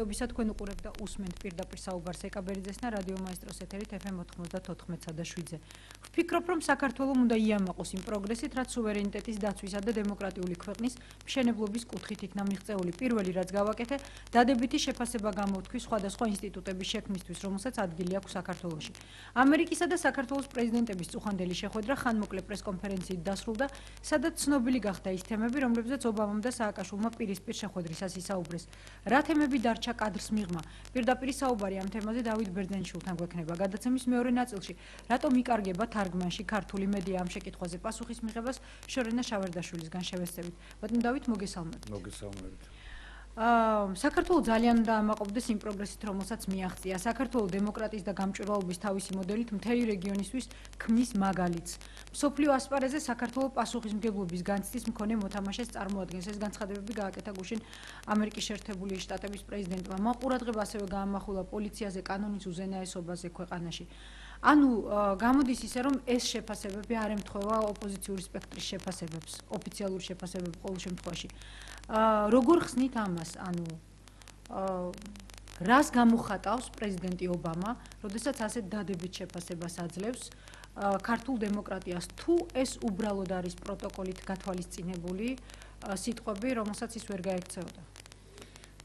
მადლობისა თქვენ უყურებთ და უსმენთ პირდაპირ საუბარს ეკაბერიძესთან რადიო მაესტროს ეთერით FM 94.7-ზე. ვფიქრობ, რომ საქართველოს უნდა იამაყოს იმ პროგრესით, რაც სუვერენიტეტის დაცვისა და დემოკრატიული ქვეყნის მშენებლობის კუთხით იქნა მიღწეული. პირველი რაც გავაკეთე, დადებითი შეფასება გამოვთქვი სხვადასხვა ინსტიტუტების შექმნისთვის, რომელსაც ადგილი აქვს საქართველოში. ამერიკისა და საქართველოს პრეზიდენტების წუხანდელი შეხვედრა ხანმოკლე პრესკონფერენციით დასრულდა, სადაც ცნობილი გახდა ის თემები, რომლებზეც ობამამ და სააკაშვილმა პირისპირ შეხვედრისას ისაუბრეს. რა თემები დარჩა კადრს მიღმა? პირდაპირ საუბარი ამ თემაზე დავით ბერძენიშვილთან გვექნება. გადაცემის მეორე ნაწილში, რატომ იკარგება თარგმანში ქართული მედია ამ შეკითხვაზე პასუხის მიღებას შორენა შავერდაშვილისგან შევესწევით. ბატონო დავით, მოგესალმებით. მოგესალმებით. საქართველოს ძალიან უნდა ამაყობდეს იმ პროგრესით, რომელსაც მიაღწია. საქართველოს დემოკრატიის და გამჭვირვალობის თავისი მოდელით მთელი რეგიონისთვის ქმნის მაგალითს. მსოფლიო ასპარეზზე საქართველოს პასუხისმგებლობის განცდის მქონე მოთამაშეს წარმოადგენს. ეს განცხადებები გააკეთა გუშინ ამერიკის შეერთებული შტატების პრეზიდენტმა. მან ყურადღება ასევე გაამახვილა პოლიციაზე, კანონის უზენაესობაზე ქვეყანაში. ანუ გამოდის ისე, რომ ეს შეფასებები არ ემთხვევა ოპოზიციური სპექტრის შეფასებებს, ოფიციალური შეფასებები ყოველ შემთხვევაში. როგორ ხსნით ამას? ანუ რას გამოხატავს პრეზიდენტი ობამა, როდესაც ასეთ დადებით შეფასებას აძლევს ქართულ დემოკრატიას, თუ ეს უბრალოდ არის პროტოკოლით გათვალისწინებული სიტყვები, რომელსაც ის ვერ გაექცეოდა?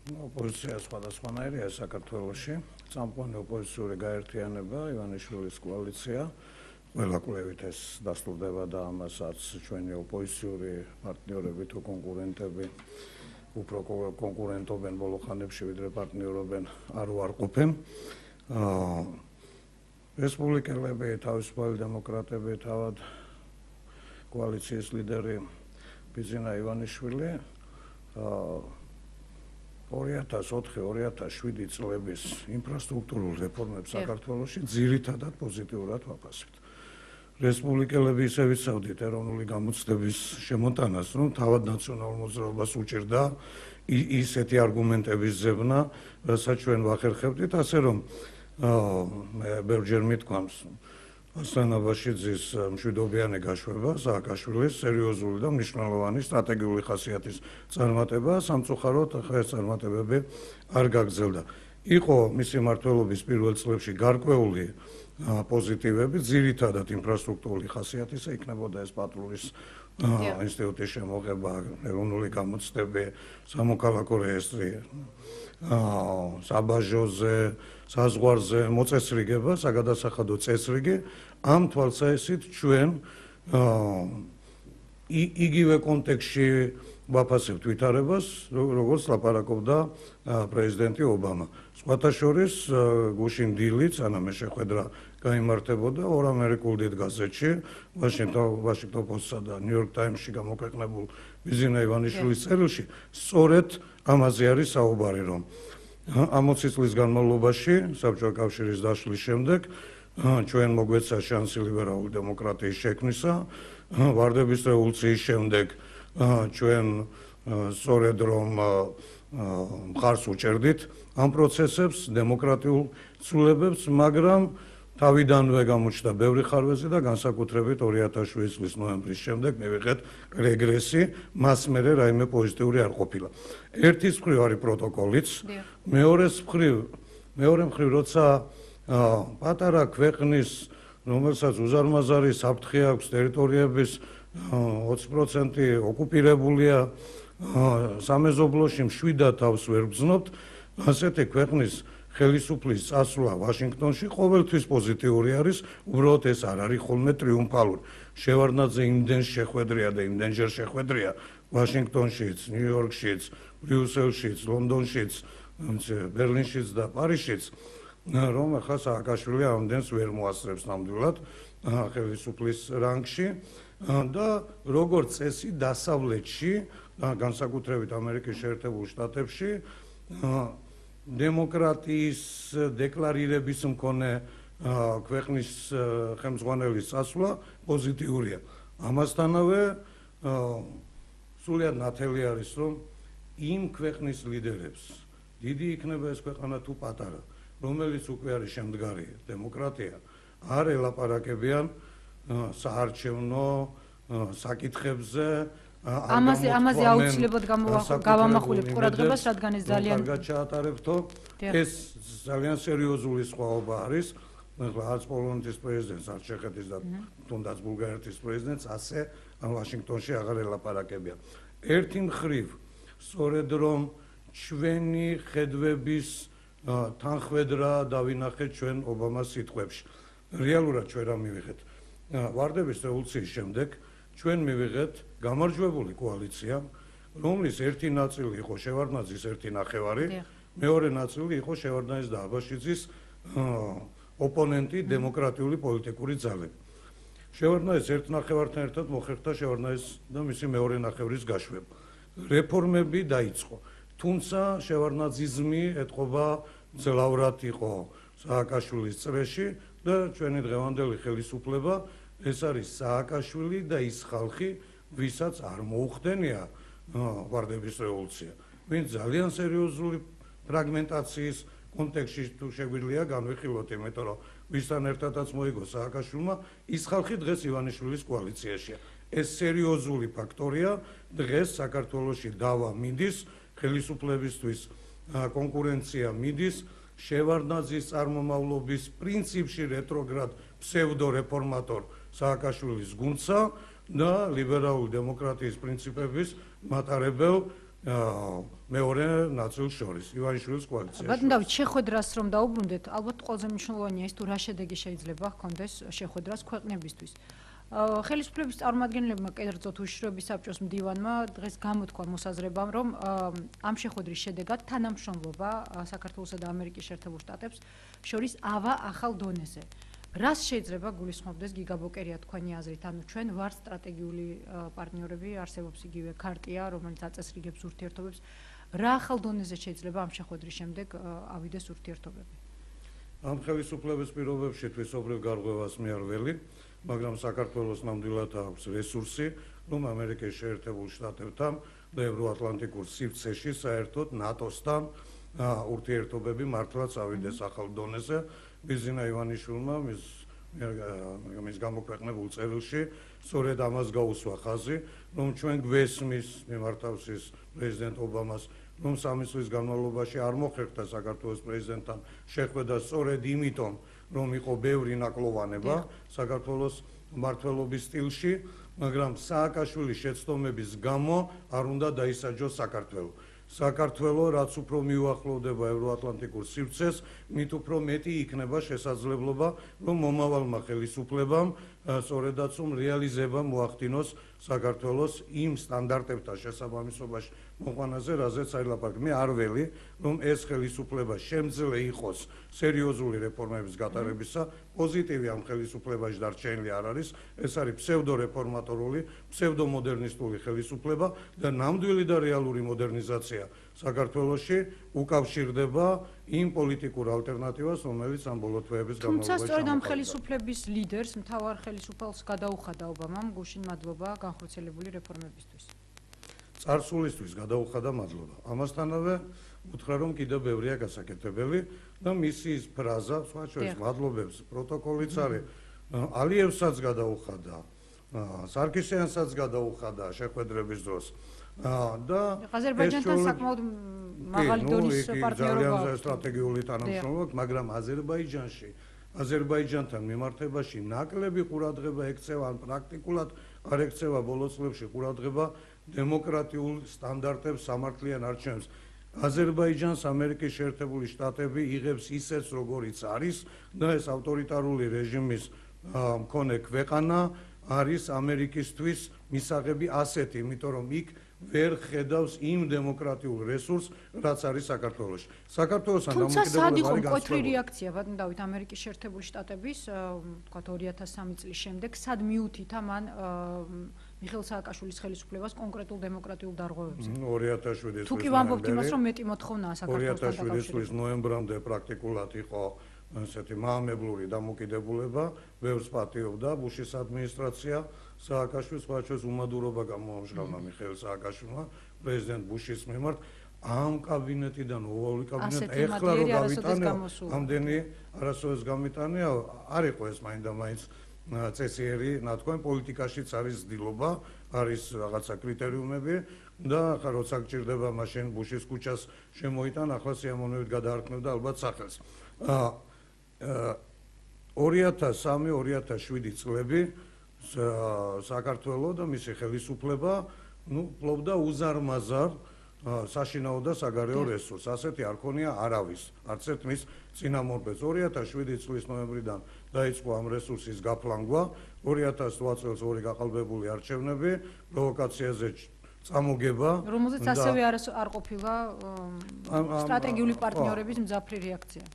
ოპოზიცია სხვადასხვანაირია საქართველოში. წამყვანი ოპოზიციური გაერთიანება, ივანიშვილის კოალიცია, ყველა კვლევით ეს დასტურდება და ამასაც ჩვენი ოპოზიციური პარტნიორები თუ კონკურენტები უფრო კონკურენტობენ ბოლო ხანებში, ვიდრე პარტნიორობენ, არ უარყოფენ. რესპუბლიკელები, თავისუფალი დემოკრატები, თავად კოალიციის ლიდერი ბიძინა ივანიშვილი 2004-2007 წლების ინფრასტრუქტურულ რეფორმებს საქართველოში ძირითადად პოზიტიურად ვაფასებთ. რესპუბლიკელები ისე ვიცავდით ეროვნული გამოცდების შემოტანას, რომ თავად ნაციონალურ მოძრაობას უჭირდა ისეთი არგუმენტების ზებნა, რასაც ჩვენ ვახერხებდით, ასე რომ მე ბევრჯერ მithქვამს ასლან აბაშიძის მშვიდობიანი გაშვება, სააკაშვილის სერიოზული და მნიშვნელოვანი სტრატეგიული ხასიათის წარმატება, სამწუხაროდ ახლა ეს წარმატებები არ გაგრძელდა. იყო მისი მმართველობის პირველ წლებში გარკვეული პოზიტივები, ძირითადად ინფრასტრუქტურული ხასიათისა, იქნებოდა ეს პატრულის ინსტიტუტის შემოღება, ეროვნული გამოცდები, სამოქალაქო რეესტრი, საბაჟოზე, საზღვარზე მოწესრიგება, საგადასახადო წესრიგი, ამ თვალსაჩინით ჩვენ იგივე კონტექსტში ვაფასებთ ვითარებას, როგორც ლაპარაკობდა პრეზიდენტი ობამა. სხვათა შორის გუშინ დილით, სანამ შეხვედრა გაიმართებოდა ორ ამერიკულ დიდ გაზეთში, Washington Post-სა და New York Times-ში გამოქვეყნებულ ბიძინა ივანიშვილის წერილში, სწორედ ამაზე არის საუბარი, რომ ამ 20 წლის განმავლობაში, საბჭოთა კავშირის დაშლის შემდეგ, ჩვენ მოგვეცა შანსი ლიბერალური დემოკრატიის შექმნისა, ვარდების რევოლუციის შემდეგ ჩვენ სწორედ რომ მხარს უჭერდით ამ პროცესებს, დემოკრატიულ ცვლილებებს, მაგრამ თავიდანვე გამოჩნდა ბევრი ხარვეზი და განსაკუთრებით 2007 წლის ნოემბრის შემდეგ მივიღეთ რეგრესი, მას მერე რაიმე პოზიტიური არ ყოფილა. ერთის მხრივ არის პროტოკოლიც, მეორე მხრივ როცა პატარა ქვეყნის, რომელსაც უზარმაზარი საფრთხე აქვს, ტერიტორიების 20% ოკუპირებულია, სამეზობლოში მშვიდად თავს ვერ გრძნობთ, ასეთი ქვეყნის ხელისუფლის წასვლა ვაშინგტონში ყოველთვის პოზიტიური არის, უბრალოდ ეს არ არის ხოლმე ტრიუმფალური. შევარდნაძე იმდენ შეხვედრია და იმდენჯერ შეხვედრია ვაშინგტონშიც, ნიუ-იორკშიც, ბრიუსელშიც, ლონდონშიც, ბერლინშიც და პარიზშიც, რომ ახლა სააკაშვილი ამდენს ვერ მოასწრებს ნამდვილად ხელისუფლის რანგში და როგორც წესი დასავლეთში, განსაკუთრებით ამერიკის შეერთებულ შტატებში დემოკრატიის დეკლარირების მქონე ქვეყნის ხელმძღვანელის წასვლა პოზიტიურია. ამასთანავე სულიად ნათელი არის, რომ იმ ქვეყნის ლიდერებს, დიდი იქნება ეს ქვეყანა თუ პატარა, რომელიც უკვე არის შემდგარი დემოკრატია, არ ელაპარაკებიან საარჩევნო საკითხებზე, ამაზე აუცილებლად გავამახვილებ ყურადღებას, რადგან ეს ძალიან კარგად ჩაატარებთო. ეს ძალიან სერიოზული სხვაობა არის. არც პოლონეთის პრეზიდენტს, არც ჩეხეთის და თუნდაც ბულგარეთის პრეზიდენტს ასე ვაშინგტონში აღარ ელაპარაკებია. ერთი მხრივ, სწორედ რომ ჩვენი ხედვების თანხwebdriver დავინახეთ ჩვენ ობამას სიტყვებში. რეალურად ჩვენ რა მივიღეთ? ვარდების რევოლუციის შემდეგ ჩვენ მივიღეთ გამარჯვებული კოალიცია, რომლის ერთი ნაწილი იყო შევარდნაძის ერთი ნახევარი, მეორე ნაწილი იყო შევარდნაძის და აბაშიძის ოპონენტი დემოკრატიული პოლიტიკური ძალები. შევარდნაძის ერთ ნახევართან ერთად მოხერხდა შევარდნაძის და მისი მეორე ნახევრის გაშვება. რეფორმები დაიწყო. თუმცა შევარდნაძიზმი ეთყობა ძლავრად იყო სააკაშვილის წრეში და ჩვენი დღევანდელი ხელისუფლება ეს არის სააკაშვილი და ის ხალხი, ვისაც არ მოუხდენია ვარდების რევოლუცია. ვინც ძალიან სერიოზული ფრაგმენტაციის კონტექსტში თუ შეგვიძლია განვიხილოთ, იმიტომ რომ ვისთან ერთადაც მოიგო სააკაშვილმა, ის ხალხი დღეს ივანიშვილის კოალიციაშია. ეს სერიოზული ფაქტორია, დღეს საქართველოში დავა მიდის, ხელისუფლებისთვის კონკურენცია მიდის, შევარდნაძის წარმომავლობის პრინციპში რეტროგრად ფსევდორეფორმატორ სააკაშვილის გუნდსა და ლიბერალური დემოკრატიის პრინციპების მატარებელ მეორე ნაწილს შორის ივანიშვილის კოალიციაში. ბატონო დავით, შეხვედრას რომ დაუბრუნდეთ, ალბათ ყველაზე მნიშვნელოვანია ის თუ რა შედეგი შეიძლება ჰქონდეს შეხვედრას ქვეყნებისთვის. ხელისუფლების წარმომადგენლებმა კერძოდ უშიშროების საბჭოს მდივანმა დღეს გამოთქვა მოსაზრებამ, რომ ამ შეხვედრის შედეგად თანამშრომლობა საქართველოსა და ამერიკის შეერთებულ შტატებს შორის ავა ახალ დონეზე. რას შეიძლება გულისხმობდეს გიგა ბოკერია თქვენი აზრით? ანუ ჩვენ ვართ სტრატეგიული პარტნიორები, არსებობს იგივე ქარტია, რომელიც აწესრიგებს ურთიერთობებს. რა ახალ დონეზე შეიძლება ამ შეხვედრის შემდეგ ავიდეს ურთიერთობები? ამ ხელისუფლების პირობებში თვისობრივ გარღვევას მე არ ველი, მაგრამ საქართველოს ნამდვილად აქვს რესურსი, რომ ამერიკის შეერთებულ შტატებთან და ევროატლანტიკურ სივრცეში საერთოდ ნატოსთან ურთიერთობები მართლაც ავიდეს ახალ დონეზე. ბიზინა ივანიშვილმა მის გამოქვეყნებულ წერილში სწორედ ამას გაუსვა ხაზი, რომ ჩვენ გვესმის მიმართავსის პრეზიდენტ ობამას, რომ 3 წლის განმავლობაში არ მოხერხდა საქართველოს პრეზიდენტთან შეხვედრა სწორედ იმიტომ, რომ იყო ბევრი ნაკლოვანება საქართველოს მმართველობის სტილში, მაგრამ სააკაშვილის შეცდომების გამო არ უნდა დაისაჯოს საქართველო. საქართველო რაც უფრო მიუახლოვდება ევროატლანტიკურ სივრცეს, მით უფრო მეტი იქნება შესაძლებლობა, რომ მომავალმა ხელისუფლებამ სწორედაც რეალიზება მოახდინოს საქართველოს იმ სტანდარტებთან შესაბამისობაში მოყვანაზე, რაზეც აილაპარაკე. მე არ ველი, რომ ეს ხელისუფლება შემძლე იყოს სერიოზული რეფორმების გატარებისა, პოზიტივი ამ ხელისუფლებაში დარჩენილი არ არის, ეს არის ფსევდორეფორმატორული, ფსევდომოდერნისტული ხელისუფლება და ნამდვილი და რეალური მოდერნიზაცია საქართველოში უკავშირდება იმ პოლიტიკურ ალტერნატივას, რომელიც ამ ბოლო თვეების განმავლობაში თუმცა სწორედ ამ ხელისუფლების ლიდერს, მთავარ ხელისუფალს გადაუხადა ობამამ გუშინ მადლობა განხორციელებული რეფორმებისთვის. წარსულისთვის გადაუხადა მადლობა. ამასთანავე უთხრა, რომ კიდევ ბევრია გასაკეთებელი და მისი ფრაზა, სხვა შორის მადლობებს პროტოკოლიც არის, ალიევსაც გადაუხადა, სარქისიანსაც გადაუხადა შეხვედრების დროს. და აზერბაიჯანთან საკმაოდ მაღალი დონის პარტნიორობა აქვს სტრატეგიული თანამშრომლობა, მაგრამ აზერბაიჯანთან მიმართებაში ნაკლები ყურადღება ექცევა, ან პრაქტიკულად არ ექცევა ბოლო წლებში ყურადღება დემოკრატიულ სტანდარტებს, სამართლიან არჩევნებს. აზერბაიჯანს ამერიკის შეერთებული შტატები იღებს ისეც, როგორიც არის და ეს ავტორიტარული რეჟიმის მქონე ქვეყანა არის ამერიკისთვის მისაღები ასეთი, იმიტომ რომ იქ ვერ ხედავს იმ დემოკრატიულ რესურსს, რაც არის საქართველოში. საქართველოსთან დამოკიდებულება არის განსხვავებული. თუმცა მკვეთრი რეაქცია, ბატონო დავით, ამერიკის შეერთებული შტატების, თქვათ 2003 წლის შემდეგ, სად მიუთითა მან მიხეილ სააკაშვილის ხელისუფლებას კონკრეტულ დემოკრატიულ დარღვევებზე. 2007 წლის თუ კი ვამბობთ იმას, რომ მეტი მოთხოვნაა საქართველოსთან 2007 წლის ნოემბრამდე პრაქტიკულად იყო ასეთი მაამებლური დამოკიდებულება, ბევრს პატიობდა ბუშის ადმინისტრაცია, სააკაშვილს სხვაჩვენს უმადურობა გამოამჟღავნა მიხეილ სააკაშვილმა პრეზიდენტ ბუშის მიმართ. ამ კაბინეტიდან ოვალი კაბინეტი ეხლა რომ გავიტანეო, ამდენი არასოდეს გამიტანეო, არ იყო ეს მაინდა-მაინც წესიერი, ნათქვამი პოლიტიკაშიც არის ცდილობა, არის რაღაცა კრიტერიუმები და ახლა როცა გჭირდება მაშინ ბუშის ქუჩას შემოიტან, ახლა სიამოვნებით გადაარქმევდა ალბათ სახელს. 2003-2007 წლები საქართველო და მისი ხელისუფლება ფლობდა უზარმაზარ საშინაო და საგარეო რესურსს. ასეთი არ ქონია არავის, არც ერთ მის წინამორბედს. 2007 წლის ნოემბრიდან დაიწყო ამ რესურსის გაფლანგვა, 2008 წელს ორი გაყალბებული არჩევნები, პროვოკაციაზე წამოგება, რომელზეც ასევე არ ყოფილა სტრატეგიული პარტნიორების მძაფრი რეაქცია.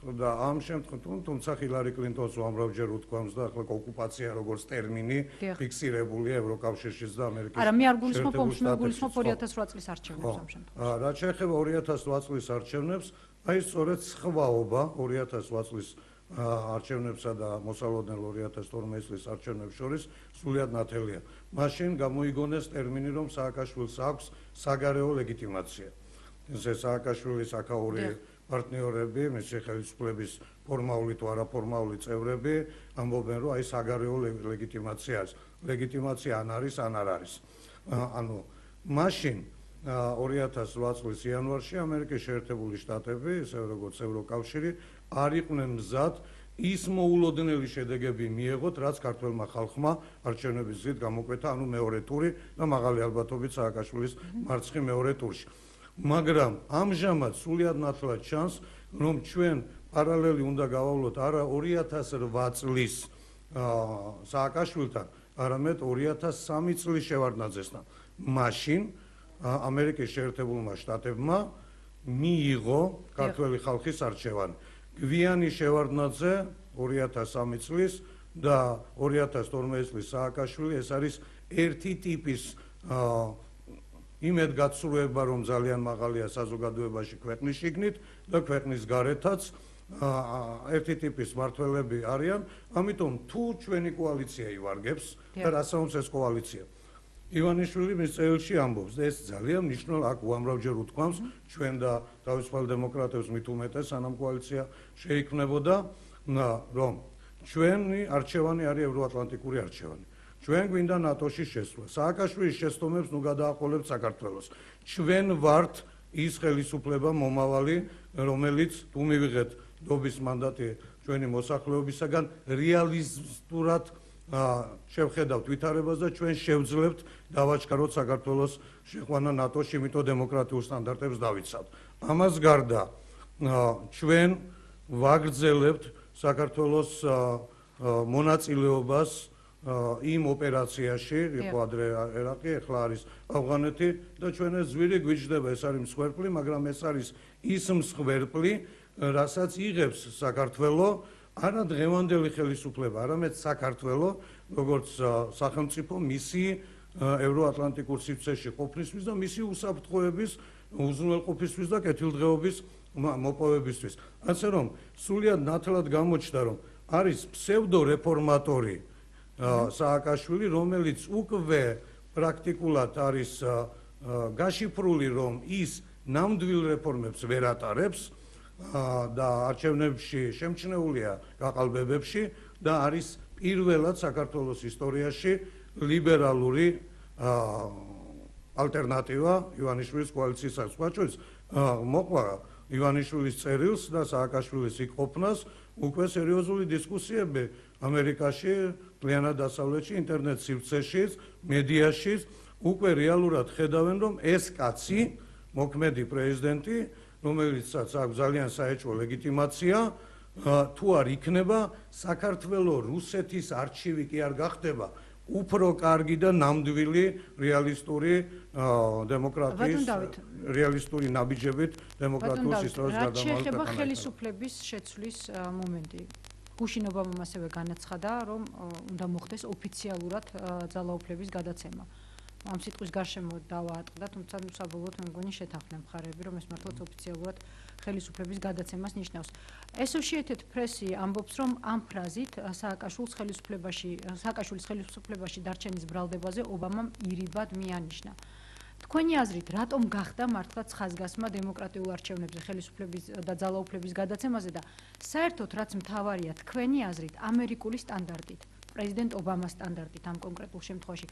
და ამ შემთხვევაში თუმცა ჰილარი კლინტონს უამრავჯერ უთქვამს და ახლა ოკუპაცია როგორც ტერმინი ფიქსირებულია ევროკავშირშიც და ამერიკის არა, მე არ გულისხმობ 2008 წლის არჩევნებს ამ შემთხვევაში. რაც შეეხება 2008 წლის არჩევნებს, აი სწორედ სხვაობა 2008 წლის არჩევნებსა და მოსალოდნელ 2012 წლის არჩევნებს შორის სრულიად ნათელია. მაშინ გამოიგონეს ტერმინი, რომ სააკაშვილს აქვს საგარეო ლეგიტიმაცია. ესე სააკაშვილის აკაური პარტნიორები, მისი ხელისუფლების ფორმალური თუ არაფორმალური წევრები ამბობენ, რომ აი საგარეო ლეგიტიმაცია არის. ლეგიტიმაცია ან არის, ან არ არის. ანუ მაშინ 2008 წლის იანვარში ამერიკის შეერთებული შტატები, ისევე როგორც ევროკავშირი, არ იყვნენ მზად ის მოულოდნელი შედეგები მიეღოთ, რაც ქართველმა ხალხმა არჩევნების გზით გამოკვეთა, ანუ მეორე ტური და მაღალი ალბათობით სააკაშვილის მარცხი მეორე ტურში. მაგრამ ამჟამად სრულიად ნათლად ჩანს, რომ ჩვენ პარალელი უნდა გავავლოთ არა 2008 წლის სააკაშვილთან, არამედ 2003 წლის შევარდნაძესთან. მაშინ ამერიკის შეერთებულმა შტატებმა მიიღო ქართველი ხალხის არჩევანი. გვიანი შევარდნაძე 2003 წლის და 2012 წლის სააკაშვილი, ეს არის ერთი ტიპის იმედგაცრუება, რომ ძალიან მაღალია საზოგადოებაში ქვეყნის შიგნით და ქვეყნის გარეთაც ერთი ტიპის მმართველები არიან, ამიტომ თუ ჩვენი კოალიცია ივარგებს და რასაუნს ეს კოალიცია. ივანიშვილი მის წერილში ამბობს და ეს ძალიან მნიშვნელოვანი, აქ უამრავჯერ უთქვამს ჩვენ და თავისუფალ დემოკრატებს მით უმეტეს, სანამ კოალიცია შეიქმნებოდა, რომ ჩვენი არჩევანი არის ევროატლანტიკური არჩევანი. ჩვენ გვინდა ნატოში შესვლა. სააკაშვილის შეცდომებს ნუ გადააყოლებთ საქართველოს. ჩვენ ვართ ის ხელისუფლება მომავალი, რომელიც თუ მივიღეთ დობის მანდატი ჩვენი მოსახლეობისაგან რეალისტურად შევხედავთ ვითარებას და ჩვენ შევძლებთ დავაჩქაროთ საქართველოს შეყვანა ნატოში, იმიტომ დემოკრატიულ სტანდარტებს დავიცავთ. ამას გარდა ჩვენ ვაგრძელებთ საქართველოს მონაწილეობას იმ ოპერაციაში, იყო ადრე ერაყი, ახლა არის ავღანეთი და ჩვენ ეს ზვირი გვიჯდება, ეს არის მსხვერპლი, მაგრამ ეს არის ის მსხვერპლი, რასაც იღებს საქართველო არა დღევანდელი ხელისუფლება, არამედ საქართველო, როგორც სახელმწიფო მისი ევროატლანტიკურ სივრცეში ყოფნისთვის და მისი უსაფრთხოების, უზრუნველყოფისთვის და კეთილდღეობის მოპოვებისთვის. ასე რომ, სრულიად ნათლად გამოჩნდა, რომ არის ფსევდორეფორმატორი სააკაშვილი, რომელიც უკვე პრაქტიკულად არის გაშიფრული, რომ ის ნამდვილ რეფორმებს ვერ ატარებს და არჩევნებში შემჩნეულია გაყალბებებში და არის პირველად საქართველოს ისტორიაში ლიბერალური ალტერნატივა ივანიშვილის კოალიციისას. სხვა შორის მოყვა ივანიშვილის წერილს და სააკაშვილის იქ ყოფნას უკვე სერიოზული დისკუსიები ამერიკაში, მთლიანად დასავლეთში, ინტერნეტ სივრცეშიც, მედიაში უკვე რეალურად ხედავენ, რომ ეს კაცი, მოქმედი პრეზიდენტი, რომელიცაც აქვს ძალიან საეჭვო ლეგიტიმაცია, თუ არ იქნება საქართველოს რუსეთის არჩივი კი არ გახდება უფრო კარგი და ნამდვილი რეალისტური დემოკრატიის რეალისტური ნაბიჯებით დემოკრატიის ისტორიის გადამავალ ქვეყანაში. შეეხება ხელისუფლების შეცვლის მომენტი. გუშინ ობამამ ასევე განაცხადა, რომ უნდა მოხდეს ოფიციალურად ძალაუფლების გადაცემა. ამ სიტყვის გარშემო დავაატყდა, თუმცა საბოლოოდ მე მგონი შეთანხმდნენ მხარეები, რომ ეს მართლაც ოფიციალურად ხელისუფლების გადაცემას ნიშნავს. Associated Press-ი ამბობს, რომ ამ ფრაზით სააკაშვილის ხელისუფლებაში დარჩენის ბრალდებაზე ობამამ ირიბად მიანიშნა. თქვენი აზრით, რატომ გახდა მართლაც ხაზგასმა დემოკრატიულ არჩევნებზე ხელისუფლების და ძალაუფლების გადაცემაზე და საერთოდ რაც მთავარია, თქვენი აზრით, ამერიკული სტანდარტით პრეზიდენტ ობამას სტანდარტით ამ კონკრეტულ შემთხვევაში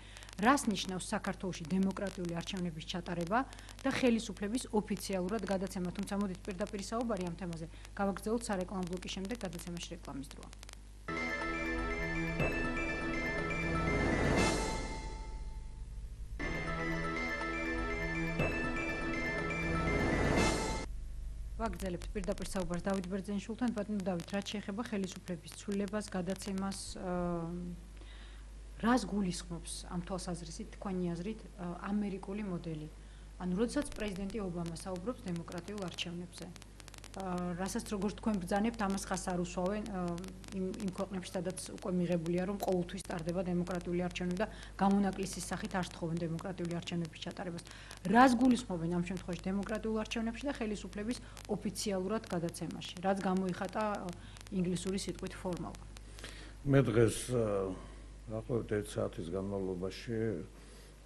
რას ნიშნავს საქართველოში დემოკრატიული არჩევნების ჩატარება და ხელისუფლების ოფიციალურად გადაცემა, თუმცა მოდით პირდაპირ საუბარი ამ თემაზე გავაგრძელოთ სარეკლამო ბლოკის შემდეგ, გადაცემაში რეკლამის დროა. ვაგრძელებთ პირდაპირ საუბარს დავით ბერძენიშვილთან. ბატონო დავით, რაც შეეხება ხელისუფლების ცვლილებას, გადაცემას, რას გულისხმობს ამ თვალსაზრისით, თქვენი აზრით, ამერიკული მოდელი? ანუ, როდესაც პრეზიდენტი ობამა საუბრობს დემოკრატიულ არჩევნებზე, რასაც როგორც თქვენ ბრძანებთ, ამას ხას არ უსვავენ იმ ქვეყნებში, სადაც უკვე მიღებულია, რომ ყოველთვის ტარდება დემოკრატიული არჩევნები და გამონაკლისის სახით არ სთხოვენ დემოკრატიული არჩევნების ჩატარებას. რას გულისხმობენ ამ შემთხვევაში დემოკრატიულ არჩევნებში და ხელისუფლების ოფიციალურად გადაცემაში? რაც გამოიხატა ინგლისური სიტყვით formal. მე დღეს დაახლოებით 1 საათის განმავლობაში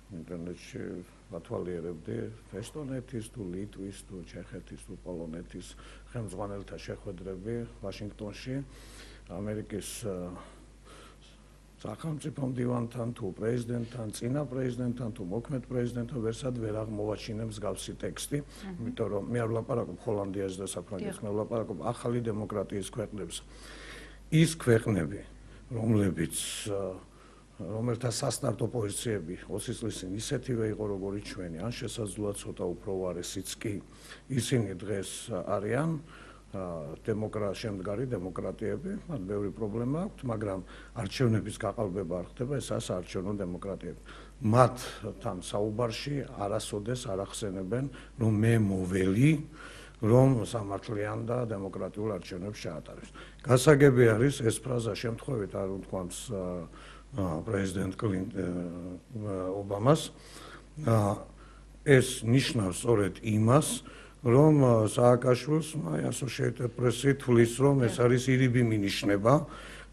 ინტერნეტში ვათვალიერებდი ესტონეთის თუ ლიტვის თუ ჩეხეთის თუ პოლონეთის ხელმძღვანელთა შეხვედრები ვაშინგტონში ამერიკის სახელმწიფო მდივანთან თუ პრეზიდენტთან, წინა პრეზიდენტთან თუ მოქმედ პრეზიდენტთან ვერსად ვერ აღმოვაჩინე მსგავსი ტექსტი, იმიტომ რომ მე არ ვლაპარაკობ ჰოლანდიაზე და საფრანგეთს, მე ვლაპარაკობ ახალი დემოკრატიის ქვეყნებზე. ის ქვეყნები, რომელთა სასტარტო პოზიციები 20 წლის წინ ისეთივე იყო როგორც ჩვენი, ან შესაძლოა ცოტა უფრო უარესიც კი, ისინი დღეს არიან შემდგარი დემოკრატიები, მათ ბევრი პრობლემა აქვთ, მაგრამ არჩევნების გაყალბება არ ხდება, ეს საარჩევნო დემოკრატიები. მათთან საუბარში არასოდეს არ ახსენებენ, რომ მე მოველი, რომ სამართლიან და დემოკრატიულ არჩევნებს ჩაატარებს. გასაგები არის ეს ფრაზა შემთხვევით არ უთქვამს პრეზიდენტ ობამას, ეს ნიშნავს სწორედ იმას, რომ სააკაშვილს Associated Press-ი თვლის, რომ ეს არის ირიბი მინიშნება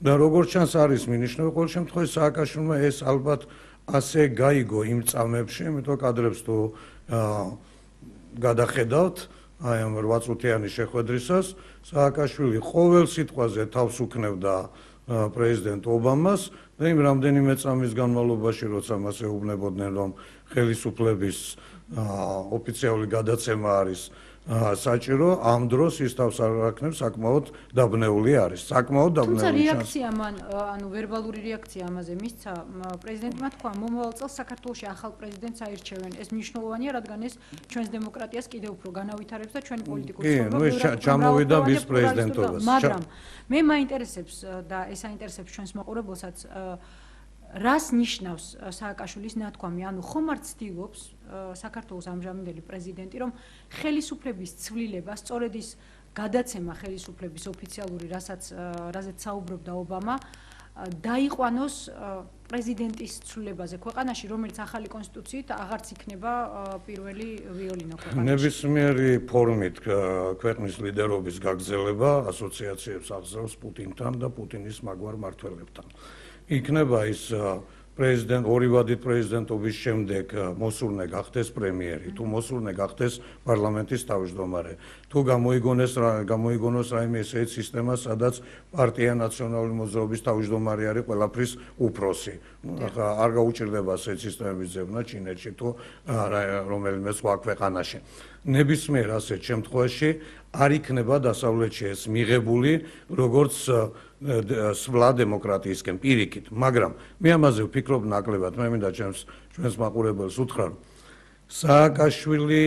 და როგორც ჩანს არის მინიშნება, ყოველ შემთხვევაში სააკაშვილმა ეს ალბათ ასე გაიგო იმ წამებში, იმიტომ კადრებს თუ გადახედავთ აი ამ 8 წუთიანი შეხვედრისას, სააკაშვილი ყოველ სიტყვაზე თავს უქნევდა პრეზიდენტ ობამას და იმ რამდენიმე წამის განმავლობაში, როცა მას ეუბნებოდნენ, რომ ხელისუფლების ოფიციალური გადაცემა არის საჭირო, ამ დროს ის თავს არ აქნებს, საკმაოდ დაბნეული არის. საკმაოდ დაბნეული. თუმცა რეაქცია მან, ანუ ვერბალური რეაქცია ამაზე მისცა, პრეზიდენტმა თქვა, მომავალ წელს საქართველოში ახალ პრეზიდენტს აირჩევენ. ეს მნიშვნელოვანია, რადგან ეს ჩვენს დემოკრატიას კიდევ უფრო განავითარებს და ჩვენი პოლიტიკური ცხოვრება ჩამოვიდა მის პრეზიდენტობას. მაგრამ მე მაინტერესებს და ეს აინტერესებს ჩვენს მაყურებელსაც, რას ნიშნავს სააკაშვილის ნათქვამი, ანუ ხომ არ ცდილობს საქართველოს ამჟამინდელი პრეზიდენტი, რომ ხელისუფლების ცვლილება, სწორედ ის გადაცემა ხელისუფლების ოფიციალური, რაზეც საუბრობდა ობამა, დაიყვანოს პრეზიდენტის ცვლილებაზე ქვეყანაში, რომელიც ახალი კონსტიტუციით აღარც იქნება პირველი ვიოლინო ქვეყანაში. ნებისმიერი ფორმით ქვეყნის ლიდერობის გაგრძელება ასოციაციებს აღწევს პუტინთან და პუტინის მაგვარ მმართველებთან. იქნება ის ორი ვადით პრეზიდენტობის შემდეგ მოსურნე გახდეს პრემიერი, თუ მოსურნე გახდეს პარლამენტის თავმჯდომარე, თუ გამოიგონოს რაიმე ესეთი სისტემა, სადაც პარტია ნაციონალური მოძრაობის თავმჯდომარე არის ყველაფრის უფროსი. არ გაუჭირდება ასეთი სისტემების ძებნა ჩინეთში თუ რომელიმე სხვა ქვეყანაში. ნებისმიერ ასეთ შემთხვევაში არ იქნება დასავლეთში ეს მიღებული, როგორც სვლა დემოკრატიისკენ პირიქით, მაგრამ მე ამაზე ვფიქრობ ნაკლებად, მე მინდა ჩვენს მაყურებელს უთხრა, რომ სააკაშვილი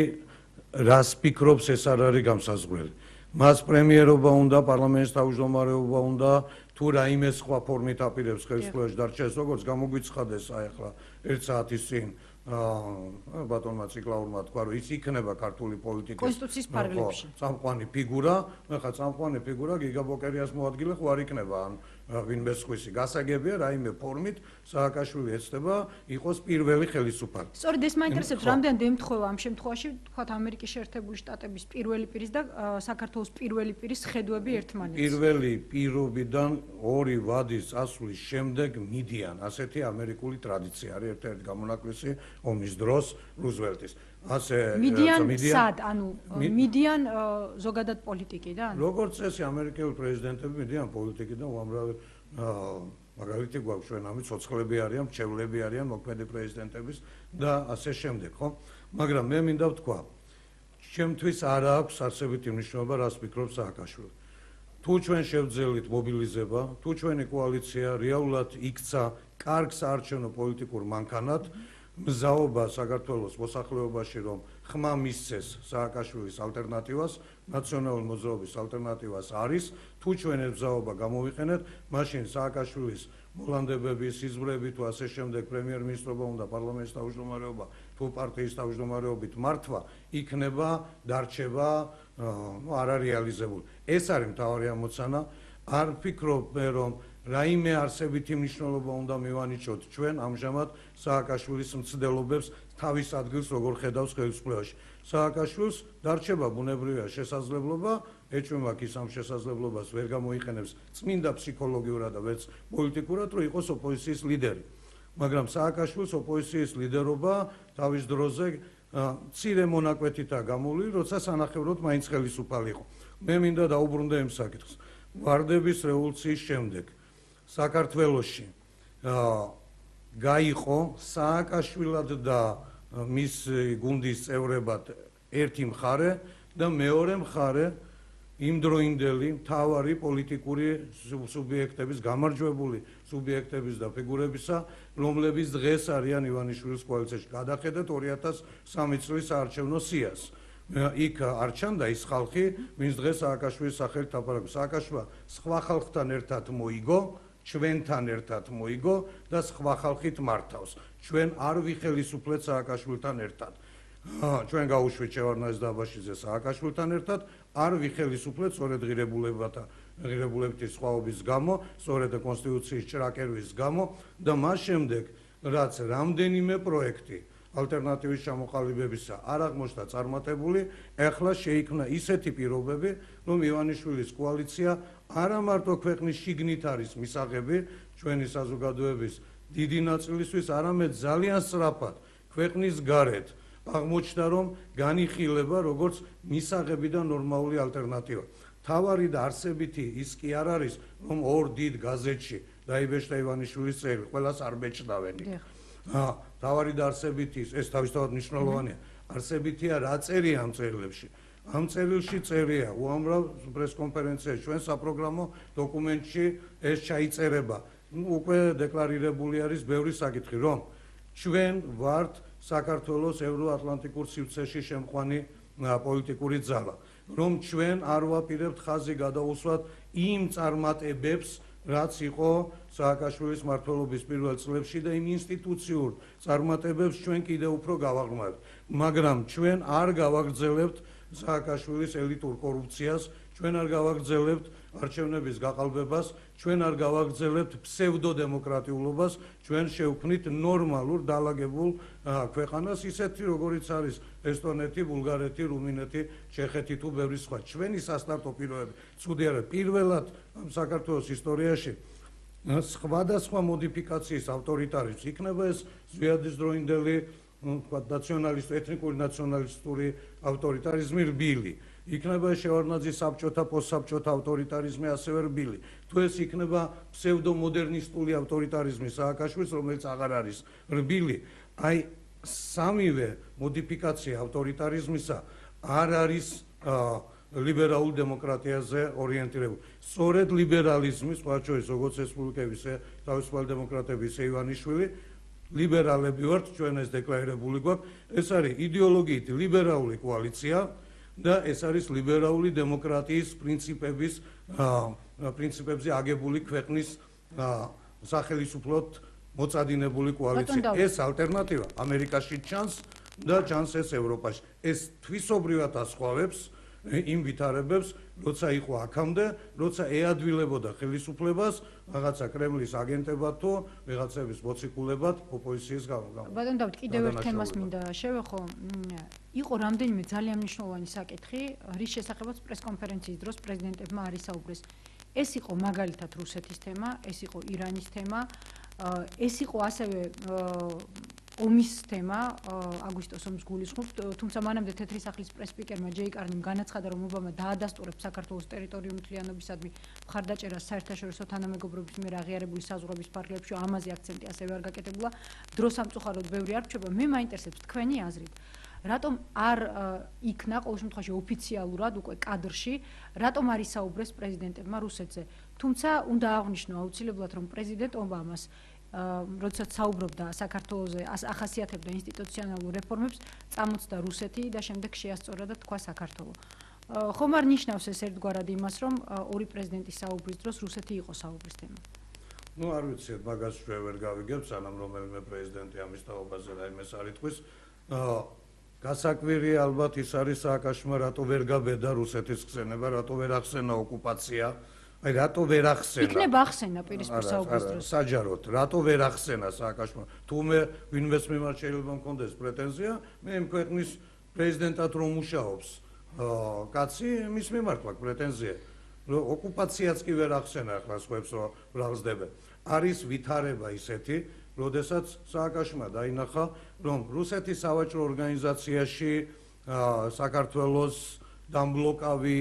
რას ფიქრობს, ეს არ არის გამსაზღვრელი. მას პრემიერობა უნდა, პარლამენტის თავმჯდომარეობა უნდა, თუ რაიმე სხვა ფორმით აპირებს ხელისუფლებაში დარჩეს, როგორც გამოგვიცხადეს აი ახლა 1 საათის წინ ბატონმა ციკლაურმა თქვა, რომ ის იქნება ქართული პოლიტიკის კონსტიტუციის ფარგლებში წამყვანი ფიგურა, ხა წამყვანი ფიგურა გიგაბოკერიას მოადგილე ხო არ იქნება ან ვინმე სხვისი. გასაგებია რაიმე ფორმით სააკაშვილი ეცდება იყოს პირველი ხელისუფალი. სწორედ ეს მაინტერესებს, რამდენად ემთხვევა ამ შემთხვევაში, თქვათ ამერიკის შეერთებული შტატების პირველი პირის და საქართველოს პირველი პირის ხედვები ერთმანეთს. პირველი პირობიდან 2 ვადის წასვლის შემდეგ მიდიან, ასეთი ამერიკული ტრადიცია არის, ერთ-ერთი გამონაკლისი ომის დროს რუზველტის. მიდიან სად, ანუ მიდიან ზოგადად პოლიტიკიდან? როგორც წესი ამერიკელი პრეზიდენტები მიდიან პოლიტიკიდან უამრავი მაგალითი გვაქვს ჩვენ ამით ცოცხლები არიან, მრჩევლები არიან, მოქმედი პრეზიდენტების და ასე შემდეგ, ხო? მაგრამ მე მინდა ვთქვა, ჩემთვის არ აქვს არსებითი მნიშვნელობა, რას ფიქრობს სააკაშვილი. თუ ჩვენ შევძელით მობილიზება, თუ ჩვენი კოალიცია რეალურად იქცა კარგ საარჩევნო პოლიტიკურ მანქანად, მზაობა საქართველოს მოსახლეობაში, რომ ხმა მისცეს სააკაშვილის ალტერნატივას, ნაციონალური მოძრაობის ალტერნატივას არის, თუ ჩვენ ეს მზაობა გამოვიყენეთ, მაშინ სააკაშვილის მოლანდებების, სიზმრები თუ ასე შემდეგ პრემიერ-მინისტრობა უნდა პარლამენტის თავმჯდომარეობა თუ პარტიის თავმჯდომარეობით მართვა იქნება, დარჩება, არ არის რეალიზებული. ეს არის მთავარი ამოცანა. არ ფიქრობ მე, რომ რაიმე არსებითი მნიშვნელობა უნდა მივანიჭოთ ჩვენ ამჟამად სააკაშვილის მცდელობებს თავის ადგილს როგორ ხედავს ხელისუფლებაში. სააკაშვილს დარჩება ბუნებრივია შესაძლებლობა, ეჭვმაკ ის ამ შესაძლებლობას ვერ გამოიყენებს წმინდა ფსიქოლოგიურად და ვერც პოლიტიკურად, რომ იყოს ოპოზიციის ლიდერი. მაგრამ სააკაშვილს ოპოზიციის ლიდერობა თავის დროზე მცირე მონაკვეთითაა გამოვლილი, როცა სანახევროდ მაინც ხელისუფალი იყო. მე მინდა დაუბრუნდე იმ საკითხს. ვარდების რევოლუციის შემდეგ საქართველოში გაიყო სააკაშვილად და მის გუნდის წევრებად ერთი მხარე და მეორე მხარე იმდროინდელი მთავარი პოლიტიკური სუბიექტების, გამარჯვებული სუბიექტების და ფიგურებისა, რომლებიც დღეს არიან ივანიშვილის კოალიციაში. გადახედეთ 2003 წლის საარჩევნო სიას. იქ არ ჩანდა ის ხალხი, ვინც დღეს სააკაშვილის სახელით ლაპარაკობს. სააკაშვილმა სხვა ხალხთან ერთად მოიგო, ჩვენთან ერთად მოიგო და სხვა ხალხით მართავს. ჩვენ არ ვიხელისუფლეთ სააკაშვილთან ერთად. ჩვენ გავუშვით შევარდნაძის და აბაშიძეს სააკაშვილთან ერთად, არ ვიხელისუფლეთ სწორედ ღირებულებითი სხვაობის გამო, სწორედ კონსტიტუციის ჭრაკერვის გამო და მას შემდეგ, რაც რამდენიმე პროექტი ალტერნატივის ჩამოყალიბებისა არ აღმოჩნდა წარმატებული, ეხლა შეიქმნა ისეთი პირობები, რომ ივანიშვილის კოალიცია არა მარტო ქვეყნის შიგნით არის მისაღები ჩვენი საზოგადოების დიდი ნაწილისთვის, არამედ ძალიან სწრაფად ქვეყნის გარეთ აღმოჩნდა, რომ განიხილება როგორც მისაღები და ნორმალური ალტერნატივა. თავარი და არსებითი ის კი არ არის, რომ ორ დიდ გაზეთში დაიბეჭდა ივანიშვილის წერილი, ყველას არ ბეჭდავენ. თავარი და არსებითი ეს თავისთავად მნიშვნელოვანია. არსებითია რა წერია ამ წერილებში. ამ წერილში წერია უამრავ პრესკონფერენციაში, ჩვენ საპროგრამო დოკუმენტში ეს ჩაიწერება. უკვე დეკლარირებული არის ბევრი საკითხი, რომ ჩვენ ვართ საქართველოს ევროატლანტიკურ სივრცეში შემყვანი პოლიტიკური ძალა, რომ ჩვენ არ ვაპირებთ ხაზი გადაუსვათ იმ წარმატებებს, რაც იყო სააკაშვილის მმართველობის პირველ წლებში და იმ ინსტიტუციურ წარმატებებს ჩვენ კიდევ უფრო გავაღრმავებთ. მაგრამ ჩვენ არ გავაგრძელებთ სააკაშვილის ელიტურ კორუფციას, ჩვენ არ გავაგრძელებთ არჩევნების გაყალბებას, ჩვენ არ გავაგრძელებთ ფსევდოდემოკრატიულობას, ჩვენ შევქმნით ნორმალურ დაალაგებულ ქვეყანას, ისეთი როგორიც არის ესტონეთი, ბულგარეთი, რუმინეთი, ჩეხეთი თუ ბევრი სხვა. ჩვენი სასტარტო პირობები ცუდი არა. პირველად საქართველოს ისტორიაში სხვადასხვა მოდიფიკაციის ავტორიტარიზმს იქნება ეს ზვიადის დროინდელი ეთნიკური ნაციონალისტური ავტორიტარიზმი რბილი. იქნება შევარდნაძის საბჭოთა პოსტსაბჭოთა ავტორიტარიზმი ასევე რბილი. თუ ეს იქნება ფსევდომოდერნისტული ავტორიტარიზმი სააკაშვილის, რომელიც აღარ არის რბილი, აი სამივე მოდიფიკაცია ავტორიტარიზმისა არ არის ლიბერალურ დემოკრატიაზე ორიენტირებული. სწორედ ლიბერალიზმი, სხვა შორის როგორც რესპუბლიკების თავისუფალი დემოკრატების ივანიშვილი, ლიბერალები ვართ, ჩვენ ეს დეკლარირებული გვაქვს, ეს არის იდეოლოგიით ლიბერალური კოალიცია და ეს არის ლიბერალური დემოკრატიის პრინციპებზე აგებული ქვეყნის სახელისუფლოდ მოწადინებული კოალიცია. ეს ალტერნატივა ამერიკაში ჩანს და ჩანს ეს ევროპაში. ეს თვისობრივად ასხვავებს იმ ვითარებებს, როცა იყო აქამდე, როცა ეადვილებოდა ხელისუფლებას რაღაცა კრემლის აგენტებად თუ ვიღაცების მოციქულებად ოპოზიციის გამო. ბატონ დავით, კიდევ ერთ თემას მინდა შევეხო. იყო რამდენიმე ძალიან მნიშვნელოვანი საკითხი, რის შესახებაც პრესკონფერენციის დროს პრეზიდენტებმა არ ისაუბრეს. ეს იყო მაგალითად რუსეთის თემა, ეს იყო ირანის თემა, ეს იყო ასევე ომის თემა აგვისტოს ომს გულისხმობს, თუმცა მანამდე თეთრი სახლის პრეს-სპიკერმა ჯეი კარნიმ განაცხადა, რომ ობამა დაადასტურებს საქართველოს ტერიტორიული მთლიანობისადმი მხარდაჭერას საერთაშორისო თანამეგობრობის მიერ აღიარებული საზღვრების ფარგლებში, ამაზე აქცენტი ასევე არ გაკეთებულა. დრო სამწუხაროდ ბევრი არ რჩება. მე მაინტერესებს თქვენი აზრით. რატომ არ იქნა ყოველ შემთხვევაში ოფიციალურად უკვე კადრში, რატომ არ ისაუბრეს პრეზიდენტებმა რუსეთზე? თუმცა უნდა აღვნიშნო აუცილებლად, რომ პრეზიდენტ ობამას როდესაც საუბრობდა საქართველოზე, ახასიათებდა ინსტიტუციონალურ რეფორმებს, წამოწდა რუსეთი და შემდეგ შეასწორა და თქვა საქართველო. ხომ არ ნიშნავს ეს ერთგვარად იმას, რომ ორი პრეზიდენტის საუბრის დროს რუსეთი იყო საუბრის თემა? ნუ არ ვიცით, მაგას ჩვენ ვერ გავიგებთ, სანამ რომელიმე პრეზიდენტი ამის თაობაზე რაიმეს არ იტყვის. გასაკვირი ალბათ ის არის სააკაშმა, რატო ვერ გაბედა რუსეთის ხსენება, რატო ვერ ახსენა ოკუპაცია. აი რატო ვერ ახსენა? იქნება ახსენა პირისპირ საუბრის დროს. საჯაროდ, რატო ვერ ახსენა სააკაშმა? თუ მე ვინმეს მიმართ შეიძლება მქონდეს პრეტენზია, მე იმ ქვეყნის პრეზიდენტად რომ მუშაობს, კაცი, მის მიმართ მაქვს პრეტენზია. ოკუპაციაც კი ვერ ახსენა, ახლა სხვებს რო ბრალსდებენ. არის ვითარება ისეთი, როდესაც სააკაშმა დაინახა, რომ რუსეთის სავაჭრო ორგანიზაციაში საქართველოს დამბლოკავი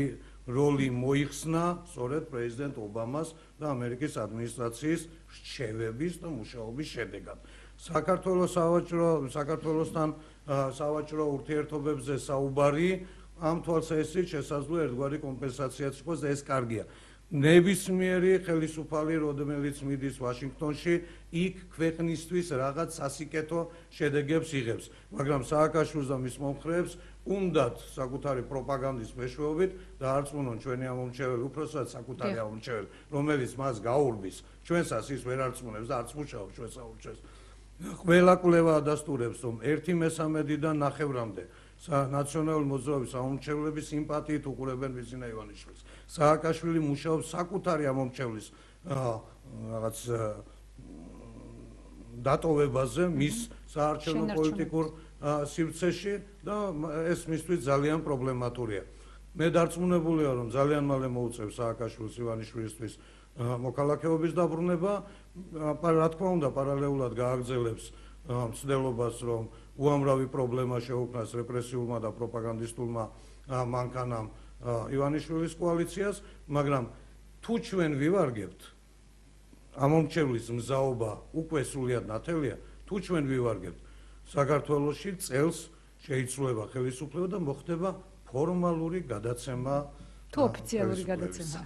როლი მოიხსნა სწორედ პრეზიდენტ ობამას და ამერიკის ადმინისტრაციის რჩევების და მუშაობის შედეგად. საქართველოსთან სავაჭრო ურთიერთობებზე საუბარი ამ თვალსაზრისით შესაძლოა ერთგვარი კომპენსაციაც იყოს და ეს კარგია. ნებისმიერი ხელისუფალი, რომელიც მიდის ვაშინგტონში, იქ ქვეყნისთვის რაღაც სასიკეთო შედეგებს იღებს, მაგრამ სააკაშვილს და მის მომხრეებს უნდათ საკუთარი პროპაგანდის მეშვეობით დაარწმუნონ ჩვენი ამომრჩეველი, უпроსტად საკუთარი ამომრჩეველი, რომელიც მას გაურბის, ჩვენსას ის ვერ არწმუნებს და არც მუშაობს ჩვენს ამომრჩეველს. ყველა კვლევა ადასტურებს, რომ 1/13-დან 9-მდე ნაციონალური მოძრაობის ამომრჩევლები სიმპათიით უყურებენ ბიზინა ივანიშვილს. სააკაშვილი მუშაობს საკუთარი ამომრჩევლის რაღაც დატოვებაზე, მის საარჩევნო პოლიტიკურ სივრცეში და ეს მისთვის ძალიან პრობლემატურია. მე დარწმუნებულია, რომ ძალიან მალე მოუწევს სააკაშვილს ივანიშვილისთვის მოქალაქეობის დაბრუნება, რა თქმა უნდა, პარალელურად გააგრძელებს მცდელობას, რომ უამრავი პრობლემა შეუქმნას რეპრესიულმა და პროპაგანდისტულმა მანქანამ ივანიშვილის კოალიციას, მაგრამ თუ ჩვენ ვივარგებთ ამომრჩევლის მზაობა უკვე სრულიად ნათელია, თუ ჩვენ ვივარგებთ საქართველოში წელს შეიცვლება ხელისუფლება და მოხდება ფორმალური გადაცემა თუ ოფიციალური გადაცემა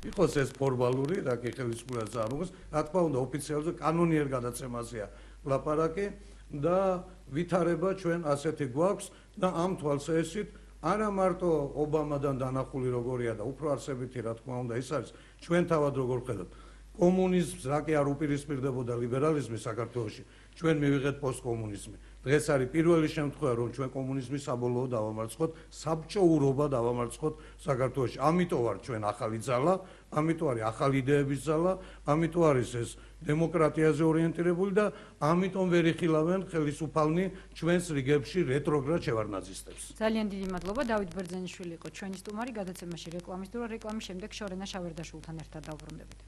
იყოს ეს ფორმალური, რა კი ხელისუფლებას წარმოგვს, რა თქმა უნდა ოფიციალურ და კანონიერ გადაცემაზეა ლაპარაკი და ვითარება ჩვენ ასეთი გვაქვს და ამ თვალსაზრისით არა მარტო ობამადან დანახული როგორია და უფრო არსებითი რა თქმა უნდა ის არის ჩვენ თავად როგორ ხედავთ კომუნიზმს რა კი არ უპირისპირდებოდა ლიბერალიზმი საქართველოში ჩვენ მივიღეთ პოსტკომუნიზმი დღეს არის პირველი შემთხვევა რომ ჩვენ კომუნიზმის საბოლოო დავამარცხოთ საბჭოურობა დავამარცხოთ საქართველოში ამიტომ ვარ ჩვენ ახალი ძალა ამიტომ არის ახალი იდეების ძალა ამიტომ არის ეს დემოკრატიაზე ორიენტირებული და ამიტომ ვერ იხილავენ ხელისუფალნი ჩვენს რიგებში რეტროგრად შევარნაძისტებს. ძალიან დიდი მადლობა. დავით ბერძენიშვილი იყო ჩვენი სტუმარი გადაცემაში რეკლამის დრო. რეკლამის შემდეგ შორენა შავერდაშვილთან ერთად დავბრუნდებით.